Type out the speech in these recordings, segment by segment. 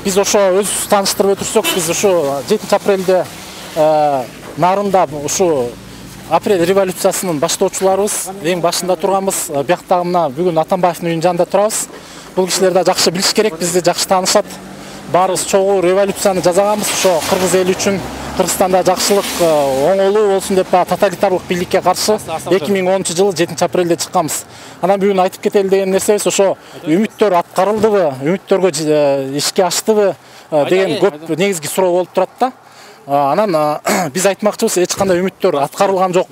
Биз ошо өзүбүз тааныштырып өтүрсөк, биз ушу 7 апрелде нарында ушу апрель революциясынын баштоочуларыбыз, эң башында турганбыз. Бияктагы мына бүгүн Атамбаевдин үйүнүн жанында турабыз. Бул кишилер да жакшы билиш керек, бизди жакшы таанышат. Баарыбыз чогуу революцияны жасаганбыз. Ошо кыргыз эли үчүн Кыргызстанда жакшылык, оңолуу болсун деп тоталитарлык бийликке каршы 2010-жылы 7 апрелде чыкканбыз. Анан бүгүн айтып кетели деген нерсебиз ошо үмүттөр аткарылдыбы, үмүттөргө ишке аштыбы деген көп негизги суроо болуп турат да. Анан биз айтмакчыбыз, эч кандай үмүттөр аткарылган жок.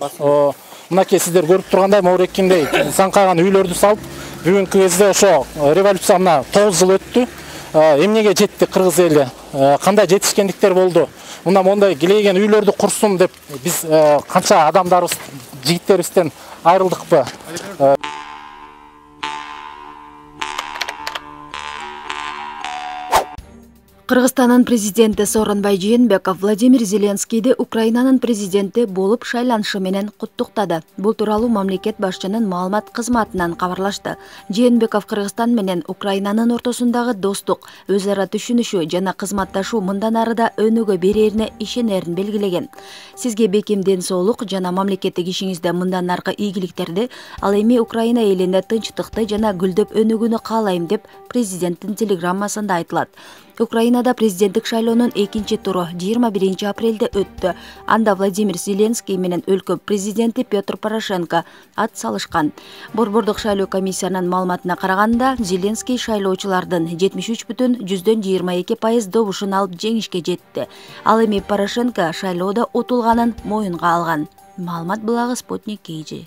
Мынакей сиздер көрүп тургандай Мауреккиндей саңкаган үйлөрдү салып, бүгүнкү кезде ошо революция 9 жыл өттү. Эмнеге жетти кыргыз эли? Кандай жетишкендиктер болду? Мына мондай килейген үйлөрдү курсун деп биз канча адамдарыбыз, жигиттерибизден айрылдыкпы? Кыргызстандын президенти Сооронбай Жээнбеков Владимир Зеленскийди Украинанын президенти болуп шайланышы менен куттуктады. Бул тууралуу мамлекет башчынын маалымат кызматынан кабарлашты. Жээнбеков Кыргызстан менен Украинанын ортосундагы достук, өз ара түшүнүшү жана кызматташуу мындан ары да өнүгө берерине ишенерин белгилеген. Сизге бекем ден соолук жана мамлекеттик ишиңизде мындан аркы ийгиликтерди, ал эми Украина элине тынчтыкты жана гүлдөп өнүгүүнү каалайм деп президенттин телеграммасында айтылат. Украинада президенттик шайлоонун экинчи туру 21 апрелде өттү. Анда Владимир Зеленский менен өлкө президенти Петр Порошенко ат салышкан. Борбордук шайлоо комиссиянын маалыматына караганда, Зеленский шайлоочулардын 73,22% добушун алып жеңишке жетти. Ал эми Порошенко шайлоодо утулганын моюнга алган. Маалымат булагы Спутник KG.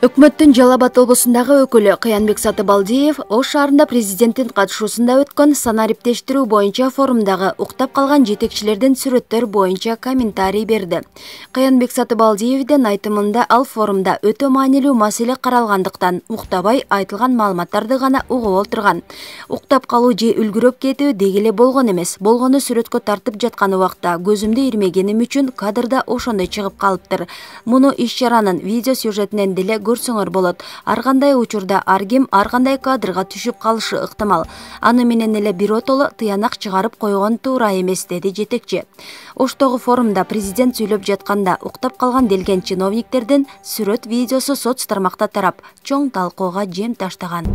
Өкмөттүн Жалал Абад облусундагы өкүлү Кыянбек Сатыбалдиев Ош шаарында президенттин катышуусунда өткөн санариптештирүү боюнча форумдагы уктап калган жетекчилердин сүрөттөр боюнча комментарий берди. Кыянбек Сатыбалдиевдин айтымында ал форумда өтө маанилүү маселе каралгандыктан уктабай айтылган маалыматтарды гана угуп олтурган. Уктап калуу же үлгүрөп кетүү деги эле болгон эмес. Болгону сүрөткө тартып жаткан убакта көзүмдү ирмегеним үчүн кадрда ошондой чыгып калыптыр. Муну иш-чаранын видео сюжетинен деле көрсөңөр болот. Ар кандай учурда ар ким ар кандай кадрга түшүп калышы ыктымал. Аны менен эле биротоло тыянак чыгарып койгон туура эмес, деди жетекчи. Оштогу форумда президент сүйлөп жатканда уктап калган делген чиновниктердин сүрөт видеосу соц тармакта тарап, чоң талкууга жем таштаган.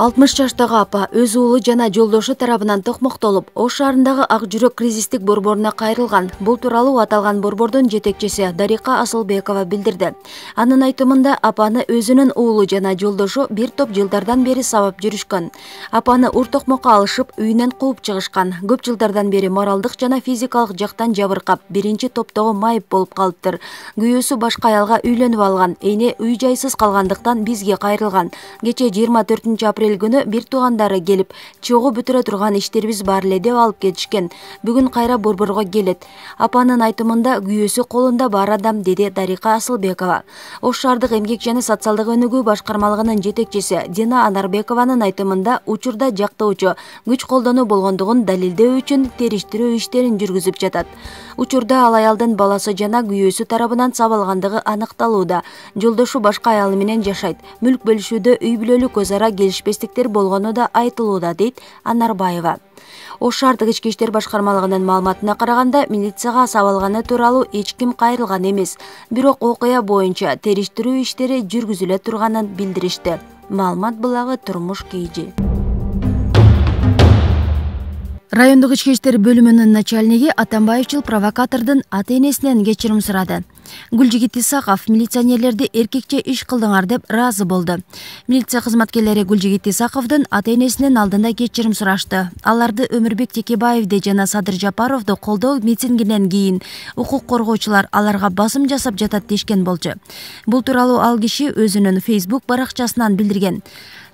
60 жаштагы апа өз уулу жана жолдошу тарабынан токмоктолуп, Ош шаарындагы Ак жүрөк кризистик борборуна кайрылган. Бул тууралуу аталган борбордун жетекчиси Дарика Асылбекова билдирди. Анын айтымында апаны өзүнүн уулу жана жолдошу бир топ жылдардан бери сабап жүрүшкөн. Апаны ур токмокко алышып, үйүнөн кууп чыгышкан. Көп жылдардан бери моралдык жана физикалык жактан жабыркап, биринчи топтогу майып болуп калыптыр. Күйөөсү башка аялга үйлөнүп алган. Эне үй жайсыз калгандыктан бизге кайрылган. Кече 24 апрель күнү бир туугандары келип, чогуу бүтүрө турган иштерибиз бар эле деп алып кетишкен. Бүгүн кайра борборго келет. Апанын айтымында күйөөсү колунда бар адам, деди Дарика Асылбекова. Ош шаардык эмгек жана социалдык өнүгүү башкармалыгынын жетекчиси Дина Анарбекованын айтымында учурда жактоочу күч колдонуу болгондугун далилдөө үчүн териштирүү иштерин жүргүзүп жатат. Учурда ал аялдын баласы жана күйөөсү тарабынан сабалгандыгы аныкталууда. Жолдошу башка аялы менен жашайт. Мүлк бөлүшүүдө үй бүлөлүк өз ара келишпестиктер болгону да айтылууда, дейт Анарбаева. Ош шаардык ички иштер башкармалыгынын маалыматына караганда, милицияга сабалганы тууралуу эч ким кайрылган эмес. Бирок окуя боюнча териштирүү иштери жүргүзүлө турганын билдиришти. Маалымат булагы Турмуш KG. Райондук ички иштер бөлүмүнүн начальниги Атамбаевчил провокатордун ата-энесинен кечирим сурады. Гүлжигит Исаков милиционерлерди эркекче иш кылдыңар деп ыраазы болду. Милиция кызматкерлери Гүлжигит Исаковдун ата-энесинин алдында кечирим сурашты. Аларды Өмүрбек Текебаевди жана Садыр Жапаровду колдоо митингинен кийин укук коргоочулар аларга басым жасап жатат дешкен болчу. Бул тууралуу ал киши өзүнүн Facebook баракчасынан билдирген.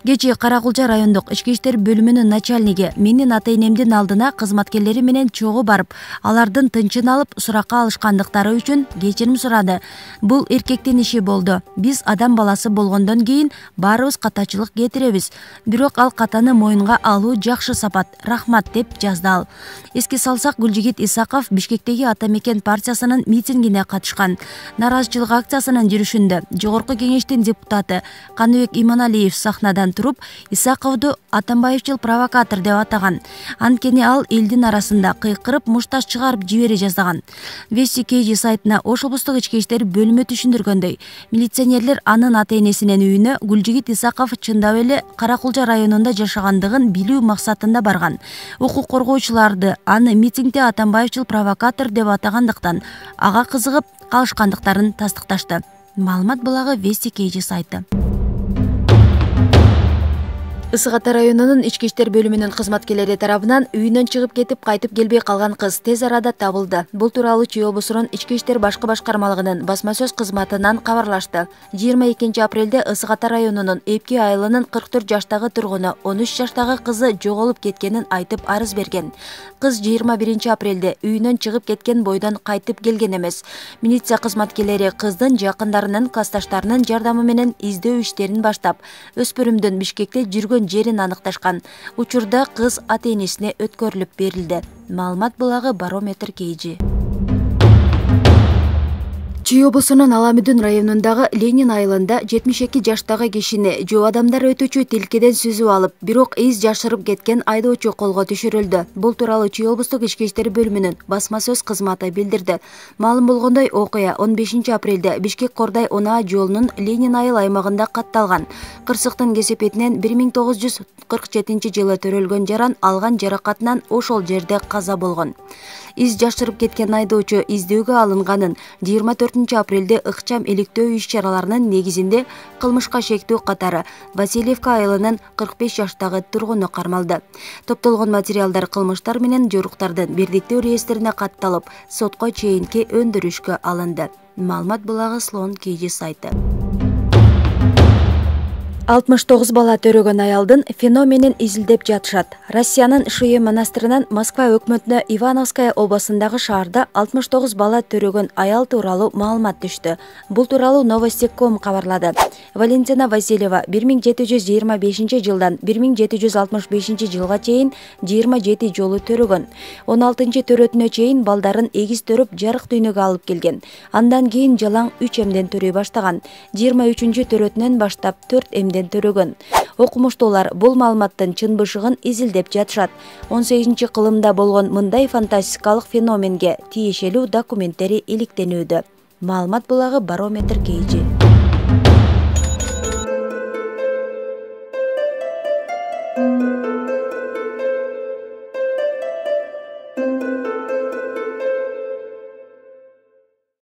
Кечээ Каракулча райондук ички иштер бөлүмүнүн начальниги менин ата-энемдин алдына кызматкерлери менен чогуу барып, алардын тынчын алып суракка алышкандыктары үчүн кечирим сурады. Бул эркектин иши болду. Биз адам баласы болгондон кийин баарыбыз катачылык кетиребиз. Бирок ал катаны моюнга алуу жакшы сапат. Рахмат, деп жазды ал. Эске салсак, Гүлжигит Исаков Бишкектеги Ата Мекен партиясынын митингине катышкан. Нараазычылык акциясынын жүрүшүндө Жогорку кеңештин депутаты Каныбек Иманалиев сахнадан туруп Исаковду Атамбаевчил провокатор деп атаган. Анткени ал элдин арасында кыйкырып мушташ чыгарып жибере жаздаган. Вести KG сайтына Ош облустук ички иштер бөлүмү түшүндүргөндөй, милиционерлер анын ата-энесинин үйүнө Гүлжигит Исаков чындап эле Каракулча районунда жашагандыгын билүү максатында барган. Укук коргоочуларды аны митингде Атамбаевчил провокатор деп атагандыктан ага кызыгып калышкандыктарын тастыкташты. Маалымат булагы Вести KG сайты. Ысык Ата районунун ички иштер бөлүмүнүн кызматкерлери тарабынан үйүнөн чыгып кетип кайтып келбей калган кыз тез арада табылды. Бул тууралуу Чүй облусунун ички иштер башкы башкармалыгынын басма сөз кызматынан кабарлашты. 22 апрелде Ысык Ата районунун Эпки айылынын 44 жаштагы тургуну 13 жаштагы кызы жоголуп кеткенин айтып арыз берген. Кыз 21 апрелде үйүнөн чыгып кеткен бойдон кайтып келген эмес. Милиция кызматкерлери кыздын жакындарынын, классташтарынын жардамы менен издөө иштерин баштап, өспүрүмдүн Бишкекте жүргөн жерин аныкташкан. Учурда кыз ата-энесине өткөрүлүп берилди. Маалымат булагы Барометр KG. Чүй облусунун Аламүдүн районундагы Ленин айылында 72 жаштагы кишини жоо адамдар өтүүчү тилкеден сүзүп алып, бирок из жашырып кеткен айдоочу колго түшүрүлдү. Бул тууралуу Чүй облустук ички иштер бөлүмүнүн басма сөз кызматы билдирди. Маалым болгондой, окуя 15 апрелде Бишкек-Кордай Онаа жолунун Ленин айыл аймагында катталган. Кырсыктын кесепетинен 1947-жылы төрөлгөн жаран алган жаракатынан ошол жерде каза болгон. Из жашырып кеткен айдоочу издөөгө алынганын 24 апрелде ыкчам иликтөө иш-чараларынын негизинде кылмышка шектүү катары Васильевка айылынын 45 жаштагы тургуну кармалды. Топтолгон материалдар кылмыштар менен жоруктардын бирдиктөө реестрине катталып, сотко чейинки өндүрүшкө алынды. Маалымат булагы Слон KG сайты. 69 бала төрөгөн аялдын феноменин изилдеп жатышат. Россиянын Шуе монастырынан Москва өкмөтүнө Ивановская областындагы шаарда 69 бала төрөгөн аял тууралуу маалымат түштү. Бул тууралуу Новости.com кабарлады. Валентина Васильева 1725 жылдан 1765 жылга чейин 27 жолу төрөгөн. 16 төрөтүнө чейин балдарын эгиз төрөп жарык дүйнөгө алып келген. Андан кийин жалаң 3 эмден төрөй баштаган. 23 төрөтүнөн баштап 4 эмден төрөгөн. Окумуштуулар бул маалыматтын чын бышыгын изилдеп жатышат. 18-кылымда болгон мындай фантастикалык феноменге тиешелүү документтери иликтенүүдө. Маалымат булагы Барометр KG.